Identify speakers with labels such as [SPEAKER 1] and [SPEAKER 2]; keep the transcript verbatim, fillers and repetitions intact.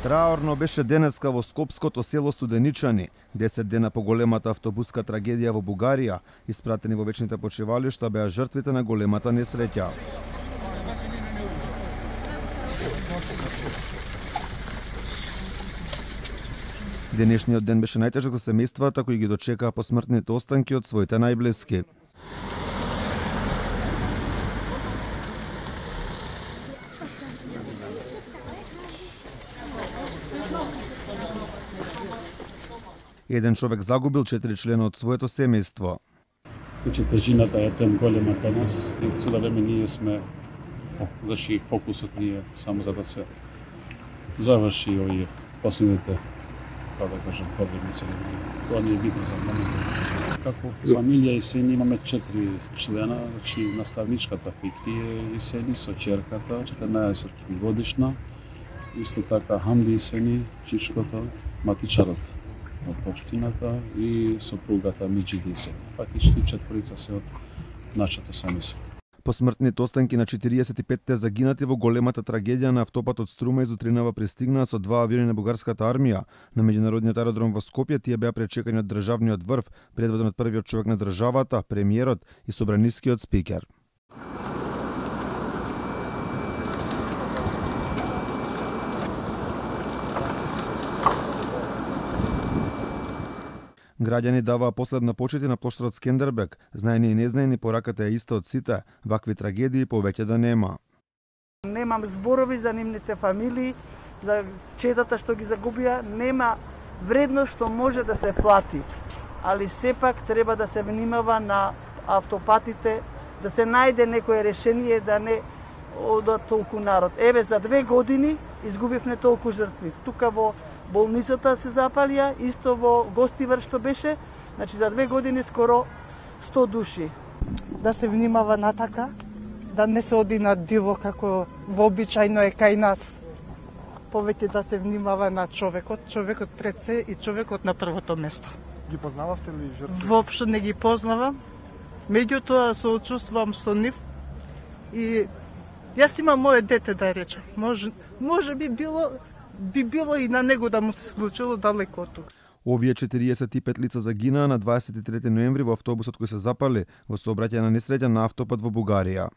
[SPEAKER 1] Траорно беше денеска во скопското село Студеничани, десет дена по големата автобуска трагедија во Бугарија, испратени во вечните почивалишта беа жртвите на големата несреќа. Денешниот ден беше најтежок за семејствата кои ги дочекаа посмртните останки од своите најблиски. Еден човек загубил четири члена од своето семејство.
[SPEAKER 2] Значи, тежината е тем голема кај нас и цело време ние сме, значи фокусот ни е само за да се заврши овие последните, како да кажам, проблеми цели. Тоа ни е битно за моментот. Како фамилија и сени имаме четири члена, значи наставничката Фикри и сени со ќерката, четирнаесет годишна, исто така Хамди и сени, чичкото, матичарот од општината и сопругата Миџиди се. Фактички четворица се од нашето семејство.
[SPEAKER 1] Посмртните останки на четириесет и петте загинати во големата трагедија на автопатот Струма из утринава пристигнаа со два авиони на бугарската армија. На меѓународниот аеродром во Скопје тие беа пречекани од државниот врв, предводен од првиот човек на државата, премиерот и собранискиот спикер. Граѓани даваа последна почит на плоштадот Скендербек. Знаени и незнаени, пораката е иста од сите. Вакви трагедии повеќе да нема.
[SPEAKER 3] Немам зборови за нивните фамилии, за чедата што ги загубија. Нема вредност што може да се плати. Али сепак треба да се внимава на автопатите, да се најде некое решение да не одат толку народ. Еве, за две години изгубивме толку жртви. Тука во болницата се запалија, исто во Гостивар што беше, значи за две години скоро сто души.
[SPEAKER 4] Да се внимава на така, да не се оди на диво како вообичајно е кај нас. Повеќе да се внимава на човекот, човекот пред се и човекот на првото место.
[SPEAKER 5] Ги познававте ли жртвите?
[SPEAKER 4] Воопшто не ги познавам. Меѓутоа соочувствувам со нив и јас имам моје дете, да речем. Може, може би било би било и на него да му се случило далеко од тука.
[SPEAKER 1] Овие четириесет и пет лица загинаа на дваесет и трети ноември во автобусот кој се запали во сообраќајна несреќа на автопат во Бугарија.